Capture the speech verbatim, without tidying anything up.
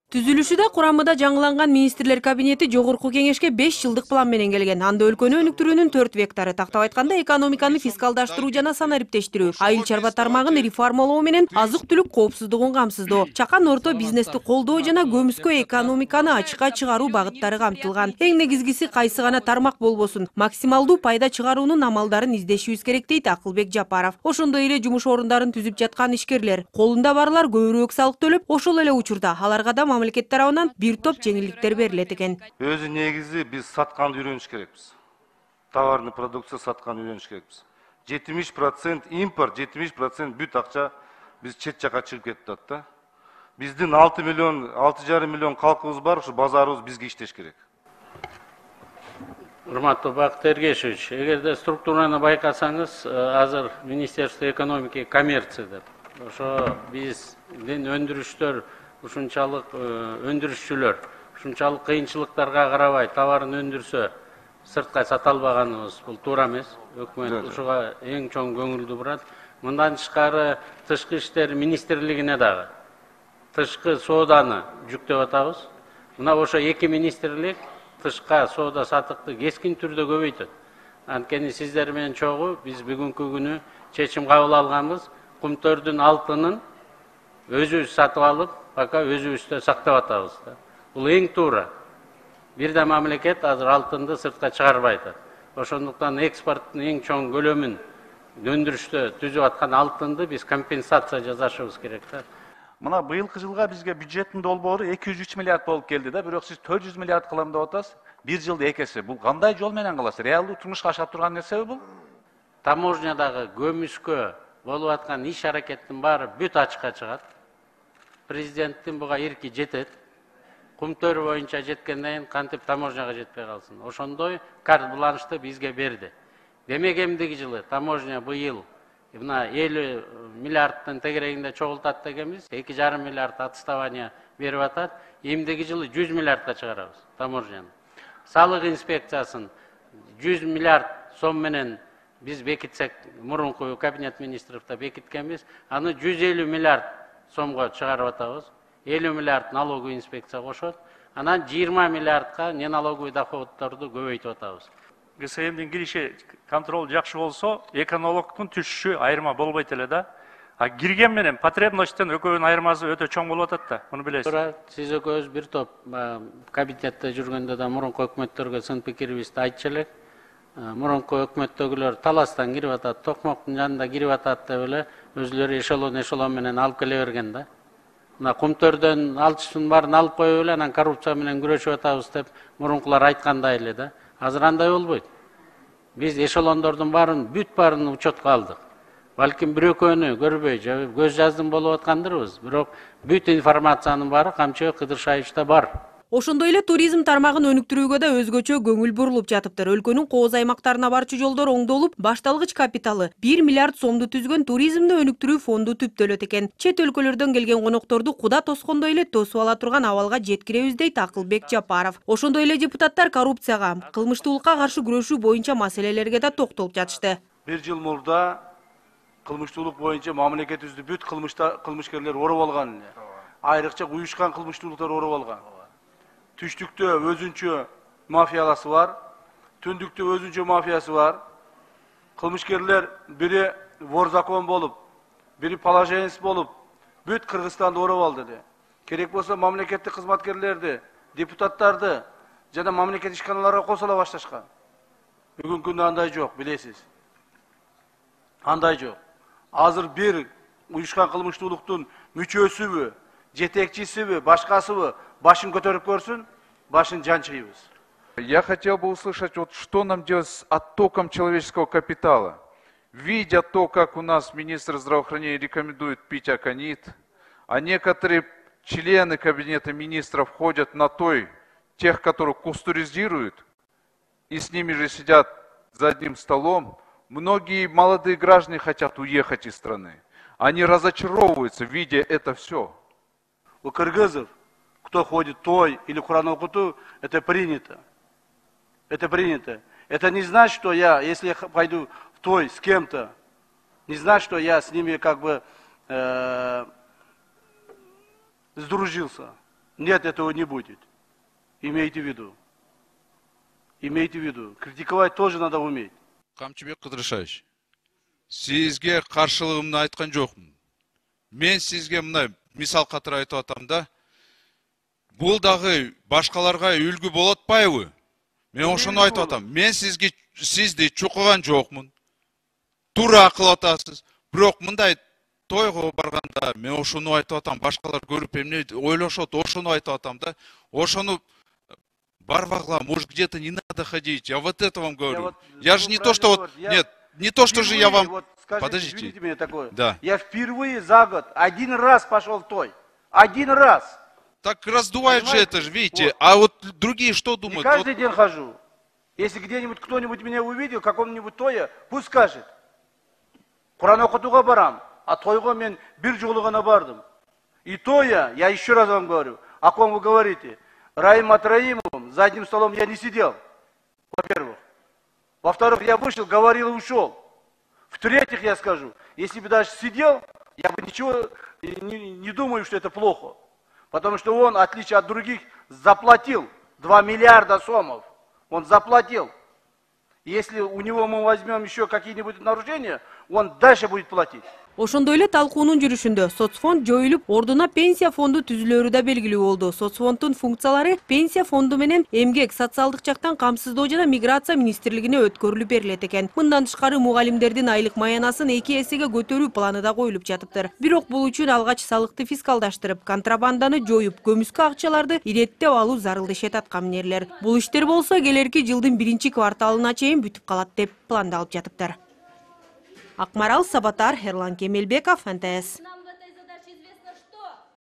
Түзүлүшүдө курамында жаңыланган министрлер кабинети жогорку кеңешке беш жылдык план менен келген. Анда өлкөнү өнүктүрүүнүн төрт вектору, тактап айтканда экономиканы фискалдаштыруу жана санариптештирүү, айыл чарба тармагын реформалоо менен азык-түлүк коопсуздугун камсыздоо, чакан орто бизнести колдоо жана көмүскө экономиканы ачыкка чыгаруу багыттары камтылган. Эң негизгиси кайсы гана тармак болбосун, максималдуу пайда чыгаруунун амалдарын издешибиз керек дейт Акылбек Жапаров. Ошондой эле жумуш орундарын түзүп жаткан ишкерлер, колунда барлар көбүрөөк салык төлөп, ошол эле учурда аларга да мамлекет тарабынан бир топ жеңилдиктер берилет экен. Өзү негизи биз сатканды үйрөнүш керекпиз. Товарный продукция сатканды үйрөнүш керекпиз. жетимиш процент импорт, жетимиш процент бүт акча биз чет жака чыгып кетип атат да. Биздин алты миллион, алты жарым миллион калкыбыз бар, ушу базарыбыз бизге иштеш керек. Урматтуу Бакыт Эргешевич, эгерде структураны байкасаңыз, азыр Министерство экономики и коммерции деп. Ошо биздин өндүрүштөр ушунчалык өндүрүшчүлөр ушунчалык кыйынчылыктарга карабай товарын өндүрсө сыртка сата албаганыбыз бул туура эмес. Өкмөт ушуга эң чоң көңүлдү бурат. Мындан тышкары тышкы иштер министрлигине дагы тышкы сооданы жүктөп атабыз. Мына ошо эки министрлик тышка соода сатыкты кескин түрдө көбөйтөт. Анткени сиздер менен чогуу биз бүгүнкү күнү чечим кабыл алганбыз. Кумтөрдүн алтынын өзүбүз сатып алып, пока өзүбүздө сактап атабыз да. Бул эң туура. Бир да мамлекет азыр алтынды сыртка чыгарбайт. Ошондуктан экспорттун эң чоң көлөмүн өндүрүштө түзүп аткан алтынды биз компенсация жасашыбыз керек да. Мына быйылкы жылга бизге бюджеттин долбоору эки жүз үч миллиард болуп келди да, бирок сиз төрт жүз миллиард кылам деп атасыз. Бир жылда эки эсе. Бул кандай жол менен кыласыз? Реалдуу турмушка аша турган нерсеби бул? Таможнядагы көмүскө болуп аткан иш аракеттин баары бүт ачыкка чыгат. Президенттин буга эрки жетет. Кумтөр боюнча жеткенден кийин кантип таможняга жетпей калсын. Ошондой карт бланшты бизге берди. Демек эмдиги жылы таможня быйыл мына элүү миллиардтын тегерегинде чогултат дегенбиз. эки жарым миллиард отставание берип атат. Эмдиги жылы жүз миллиардка чыгарабыз таможняны. Салык инспекциясын жүз миллиард сом менен биз бекитсек, мурунку кабинет министровда бекиткенбиз. Аны жүз элүү миллиард сомго чыгарып атабыз. элүү миллиард налоговый инспекция кошот. Анан жыйырма миллиардка неналоговый доходдорду көбөйтүп атабыз. ГСМдин кириши контроль жакшы болсо, экономиканын түшүшү айырма болбойт эле да. А кирген менен потребностьтен экөөнүн айырмасы өтө чоң болуп атат да. Муну билесиз. Туура, сиз экөөбүз бир топ кабинетте жүргөндө да мурунку өкмөттөргө сын пикирибизди айтчу элек. Мурунку өкмөттөгүлөр таластан кирип атат, токмоктун жанында кирип атат деп эле өзүлөрү эшелон эшелон менен алып келе берген да. Мына кумтөрдөн алчысын баарын алып коюп эле анан коррупция менен күрөшүп атабыз деп мурункулар айткандай эле да. Азыр андай болбойт. Биз эшелондордун баарын бүт баарын учетко алдык. Балким бир экөөнү көрбөй, көз жаздым болуп аткандырбыз, бирок бүт информациянын баары Камчы Кыдыршаевичте бар. Ошондой эле туризм тармагын өнүктүрүүгө да өзгөчө көңүл бурулуп жатыптыр. Өлкөнүн кооз аймактарына барчу жолдор оңдолуп, башталгыч капиталы бир миллиард сомду түзгөн туризмди өнүктүрүү фонду түптөлөт экен. Чет өлкөлөрдөн келген конокторду куда тоскондой эле тосуп ала турган абалга жеткиребиз дейт Акылбек Жапаров. Ошондой эле депутаттар коррупцияга, кылмыштуулукка каршы күрөшүү боюнча маселелерге да токтолуп жатышты. Бир жыл мурда кылмыштуулук боюнча мамлекетибизди бүт кылмышкерлер ороп алган. Айрыкча уюшкан кылмыштуулуктар ороп алган. Түштүктө өзүнчө мафияласы бар, түндүктө өзүнчө мафиясы бар. Кылмышкерлер бири вор закон болуп, бири положенец болуп, бүт Кыргызстанды ороп алды. Керек болсо мамлекеттик кызматкерлерди, депутаттарды жана мамлекет ишканаларга косула башташкан. Бүгүнкү күндө андай жок, билесиз. Андай жок. Азыр бир уюшкан кылмыштуулуктун мүчөсүбү, жетекчисиби, башкасыбы башын көтөрүп көрсүн, башын жанчыйбыз. Я хотел бы услышать, вот что нам делать с оттоком человеческого капитала. Видя то, как у нас министр здравоохранения рекомендует пить аконит, а некоторые члены кабинета министров ходят на той, тех, которых кустуризируют, и с ними же сидят за одним столом, многие молодые граждане хотят уехать из страны. Они разочаровываются, видя это все. У кыргызов, кто ходит той или Куран окуту, это принято. Это принято. Это не значит, что я, если я пойду в той с кем-то, не значит, что я с ними как бы э, сдружился. Нет, этого не будет. Имейте в виду. Имейте в виду. Критиковать тоже надо уметь. Камчыбек Кыдырышевич, сизге каршылыгымды айткан жокмун. Мен сизге мына мисал катары айтып атам да. Бул дагы башкаларга үлгү болот атпайбы? Мен ошону айтып атам. Мен сизге сизди чукуган жокмун. Туура кылып атасыз. Бирок мындай тойго барганда мен ошону айтып атам. Башкалар көрүп эмне ойлошот, ошону айтып атам да. Ошону барбагла, может, где-то не надо ходить. Я вот это вам говорю. вот- Я ну, же не вы то, что правильно вот... говорите. Я Нет, не то, что же я Впервые, вам... вот скажите, Подождите. извините меня такое. Да. Я впервые за год один раз пошел в той. Один раз. Так раздувает же Понимаете? это же, видите. Вот. А вот другие что Не думают? каждый Вот день хожу. Если где-нибудь кто-нибудь меня увидел, каком-нибудь тое, пусть скажет. Куран окутуга барам, а тойго мен бир жолу гана бардым. И то я, я еще раз вам говорю, о ком вы говорите, Раим Атраимовым, за одним столом я не сидел, во-первых. Во-вторых, я вышел, говорил и ушел. В-третьих, я скажу, если бы даже сидел, я бы ничего не, не думаю, что это плохо. Потому что он, в отличие от других, заплатил два миллиарда сомов. Он заплатил. Если у него мы возьмем еще какие-нибудь нарушения, он дальше будет платить. Ошондой эле талкуунун жүрүшүндө соцфонд жоюлуп, ордуна пенсия фонду түзүлөрү да белгилүү болду. Соцфонддун функциялары пенсия фонду менен эмгек, социалдык жактан камсыздоо жана миграция министрлигине өткөрүлүп берилет экен. Мындан тышкары мугалимдердин айлык маянасын эки эсеге көтөрүү планы да коюлуп жатыптыр. Бирок бул үчүн алгач салыкты фискалдаштырып, контрабанданы жоюп, көмүскө акчаларды иреттеп алуу зарыл дешет аткаминерлер. Бул иштер болсо келерки жылдын биринчи кварталына чейин бүтүп калат деп пландалып жатыптыр. Акмарал Сабатар, Эрлан Кемелбеков, эн тэ эс.